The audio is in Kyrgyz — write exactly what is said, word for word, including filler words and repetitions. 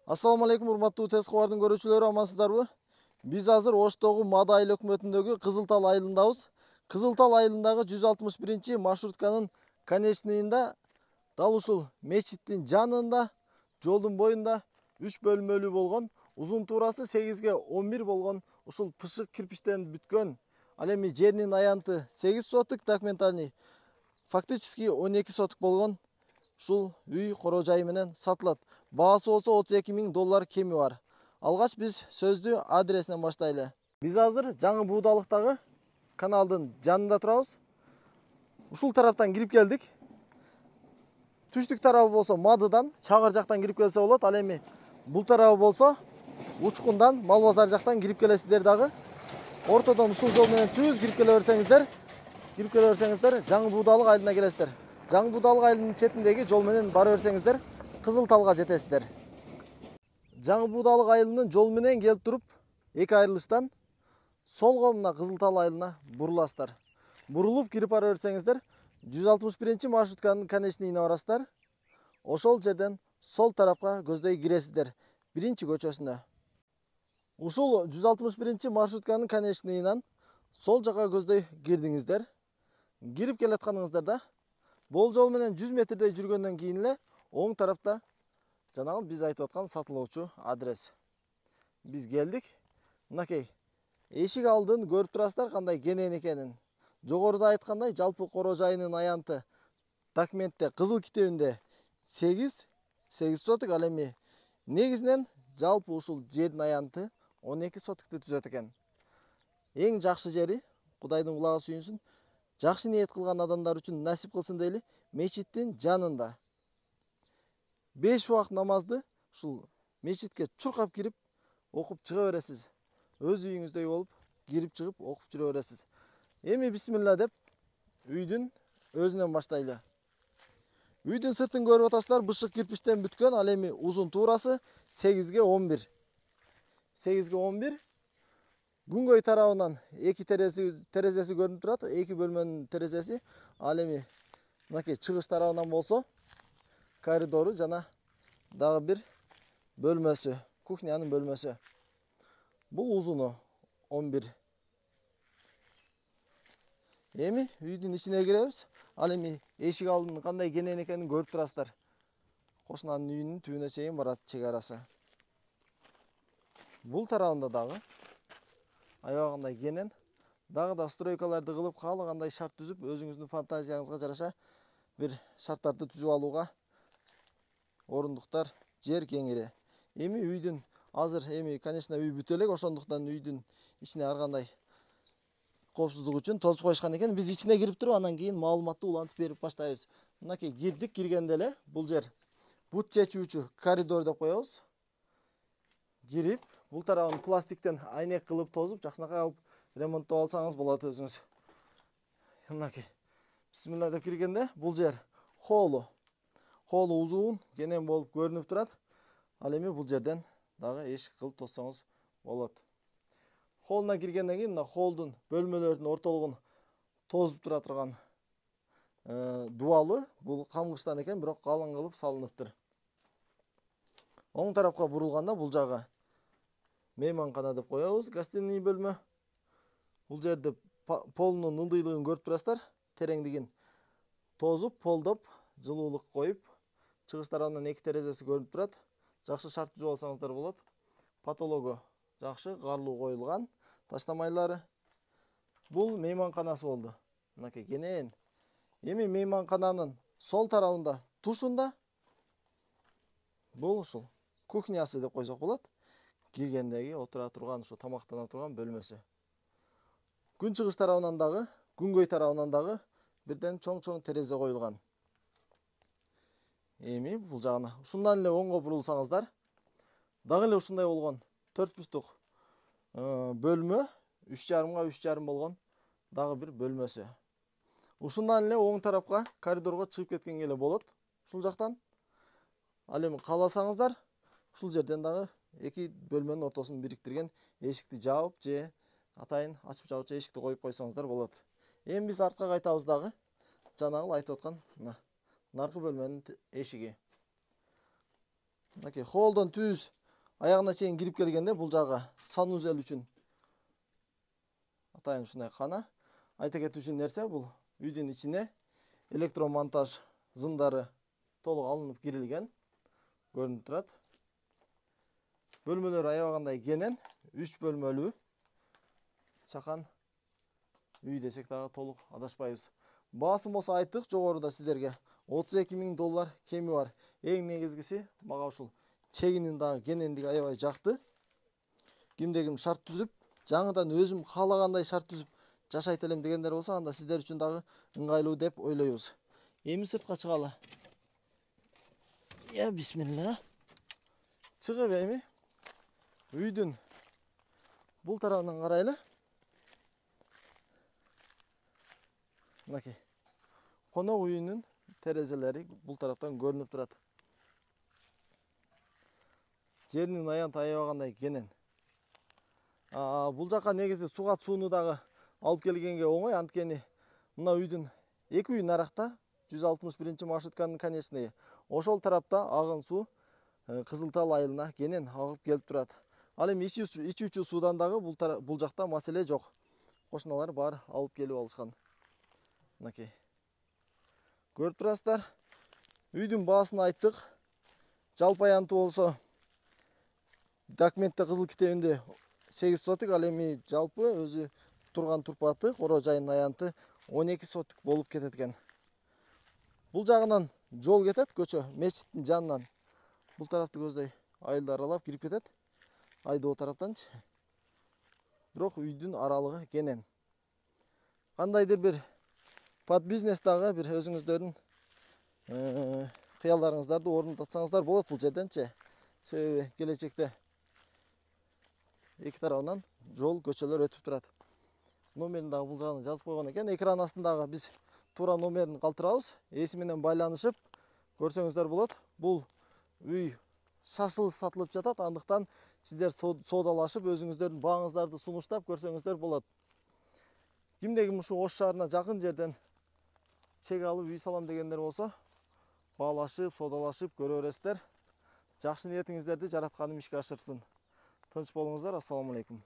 Assalamu alaikum урматтуу Тез кабардын көрүүчүлөрү, амансыздарбы? Биз азыр Оштогу Мада айыл өкмөтүндөгү Кызыл Тал айылындабыз. Кызыл Тал айылындагы жүз алтымыш биринчи маршрутканын конечныйында, дал ушул мечиттин жанында, жолдун боюнда үч бөлмөлүү болгон, узун туурасы сегизге он бир болгон ушул пышык кирпичтен бүткөн, ал эми жеринин аянты сегиз соток, документальный фактически он эки соток болгон ушул үй коро жай менен сатылат. Баасы болсо отуз эки миң доллар кеми бар. Алгач биз сөздү адресинен баштайлы. Биз азыр Жаңы Буудалыктагы каналдын жанында турабыз. Ушул тараптан кирип келдик. Түштүк тарабы болсо Мадыдан, Чагыр жактан кирип келсе болот. Ал эми бул тарабы болсо Учкундан, Мал базар жактан кирип келесиздер дагы. Ортодон ушул жол менен түз кирип келе берсеңиздер, кирип келе берсеңиздер Жаңы Буудалык айылына келесиздер. Жаңы Буудалык айылынын четиндеги жол менен бара берсеңиздер, Кызыл Талга жетесиздер. Жаңы Буудалык айылынын жол менен келип туруп, эки айрылыштан солго мына Кызыл Тал айылына буруласыздар. Бурулуп кирип бара берсеңиздер, жүз алтымыш биринчи маршрутканын конечныйына барасыздар. Ошол жерден сол тарапка көздөй киресиздер, биринчи көчөсүнө. Ушул жүз алтымыш биринчи маршрутканын конечныйынан сол жака көздөй кирдиңиздер. Кирип келатканыңыздарда бул жол менен жүз метрдей жүргөндөн кийин эле оң тарапта жанагы биз айтып аткан сатылуучу адрес. Биз келдик. Мынакей эшик алдын көрүп турасыздар кандай кенен экенин. Жогоруда айткандай, жалпы коро жайынын аянты документте кызыл китебинде сегиз соток, ал эми негизинен жалпы ушул жердин аянты он эки сотокты түзөт экен. Эң жакшы жери, Кудайдын кулагы сүйүнсүн, жакшы ниет кылган адамдар үчүн насип кылсын дейли, мечиттин жанында. беш убакыт намазды ушул мечитке чуркап кирип, окуп чыга бересиз. Өз үйүңүздөй болуп, кирип чыгып окуп жүрө бересиз. Эми бисмилла деп үйдүн өзүнөн баштайлы. Үйдүн сыртын көрүп атасыздар, бышык кирпичтен бүткөн, ал эми узун туурасы сегизге он бир. сегизге он бир. Күнгөй тарабынан эки терезеси терезеси көрүнүп турат, эки бөлмөнүн терезеси. Ал эми мынакей чыгыш тарабынан болсо коридору жана дагы бир бөлмөсү, кухнянын бөлмөсү. Бул узуну он бир. Эми үйдүн ичине киребиз. Ал эми эшик алдынын кандай кенен экенин көрүп турасыздар. Кошунанын үйүнүн түбүнө чейин барат чек арасы. Бул тарабында дагы аябагандай кенен, дагы да стройкаларды кылып, каалагандай шарт түзүп, өзүңүздүн фантазияңызга жараша бир шарттарды түзүп алууга орундуктар, жер кеңири. Эми үйдүн азыр эми конечно үй бүтө элек, ошондуктан үйдүн ичине ар кандай коопсуздук үчүн тосуп коюшкан экен. Биз ичине кирип туруп, анан кийин маалыматты улантып берип баштайбыз. Мынакей кирдик, киргенде эле бул жер бут чечүүчү коридор деп коебуз. Кирип, бул тарабын пластиктен айнек кылып тозуп, жакшынакай алып ремонттоп алсаңыз болот өзүңүз. Мынакей бисмилла деп киргенде бул жер холлу. Холлу узун, кенен болуп көрүнүп турат. Ал эми бул жерден дагы эшик кылып тоссоңуз болот. Холлуна киргенден кийин мына холлдун бөлмөлөрдүн ортолугун тозуп тура турган дубалы, бул камгычтан экен, бирок калың кылып салыныптыр. Оң тарапка бурулганда бул жагы мейманкана деп коебуз, гостиный бөлмө. Бул жерде полунун ылдыйлыгын көрүп турасыздар, тереңдигин тозуп, полдоп, жылуулук коюп, чыгыш тарабынан эки терезеси көрүнүп турат. Жакшы шарт түзүп алсаңыздар болот. Потологу жакшы, карлуу коюлган, таштамайлары. Бул мейманканасы болду. Мынакей кенен. Эми мейманкананын сол тарабында, тушунда бул ушул кухнясы деп койсок болот. Киргендеги отура турган, ушу тамактана турган бөлмөсү. Күн чыгыш тарабынан дагы, күнгөй тарабынан дагы бирден чоң-чоң терезе коюлган. Эми бул жагына ушундан эле оңго бурулсаңыздар, дагы эле ушундай болгон төрт бурчтук бөлмө, үч жарымга үч жарым болгон дагы бир бөлмөсү. Ушундан эле оң тарапка коридорго чыгып кеткенге эле болот. Ушул жактан. Ал эми кааласаңыздар, ушул жерден дагы эки бөлмөнүн ортосун бириктирген эшикти жаап же атайын ачып жабычу эшикти коюп койсоңуздар болот. Эми биз артка кайтабыз дагы. Жанагы айтып аткан мына наркы бөлмөнүн эшиги. Мынакей холлдон түз аягына чейин кирип келгенде бул жагы санузел үчүн атайын ушундай кана. Айта кетүүчү нерсе, бул үйдүн ичине электромонтаж зымдары толук алынып кирилген. Көрүнүп турат. Бөлмөлөр аябагандай кенен, үч бөлмөлүү чакан үй десек дагы толук адашпайбыз. Баасын болсо айттык жогоруда сиздерге отуз эки миң доллар кеми бар. Эң негизгиси мага ушул чегинин дагы кенендиги аябай жакты. Кимде ким шарт түзүп, жаңыдан өзүм каалагандай шарт түзүп жашайт элем дегендер болсо, анда сиздер үчүн дагы ыңгайлуу деп ойлойбуз. Эми сыртка чыгалы. Я бисмилла. Чыгып эми үйдүн бул тарабынан карайлы. Мынакей. Конок үйүнүн терезелери бул тараптан көрүнүп турат. Жеринин аянты аябагандай кенен. А бул жака негизи суга сууну дагы алып келгенге оңой, анткени мына үйдүн эки үй наракта жүз алтымыш биринчи маршрутканын конечныйы. Ошол тарапта агын суу Кызыл Тал айылына кенен агып келип турат. Ал эми ичүүчү суудан дагы бул бул жакта маселе жок. Кошуналар баары алып келип алышкан. Мынакей. Көрүп турасыздар. Үйдүн баасын айттык. Жалпы аянты болсо документте кызыл китебинде сегиз сотик, ал эми жалпы өзү турган турпаты, коро жайынын аянты он эки сотик болуп кетет экен. Бул жагынан жол кетет, көчө, мечиттин жанынан. Бул тарапты көздөй айылды аралап кирип кетет. Айдоо тараптанчы. Бирок үйдүн аралыгы кенен. Кандайдыр бир под бизнес дагы бир өзүңүздөрдүн кыялдарыңыздарды орунтатсаңыздар болот бул жерденчи. Себеби келечекте эки тарабынан жол, көчөлөр өтүп турат. Номерин дагы бул жагына жазып койгон экен. Экран астындагы биз туура номерин калтырабыз. Эси менен байланышып көрсөңүздөр болот. Бул үй шашылып сатылып жатат. Андыктан сиздер соодалашып өзүңүздөрдүн бааңыздарды сунуштап көрсөңүздөр болот. Кимде ким ушу Ош шаарына жакын жерден чек алып үй салам дегендер болсо, баалашып, соодалашып көрө бересиздер. Жакшы ниетиңиздерди жаратканым ишке ашырсын. Тынч болуңуздар. Ассаламу алейкум.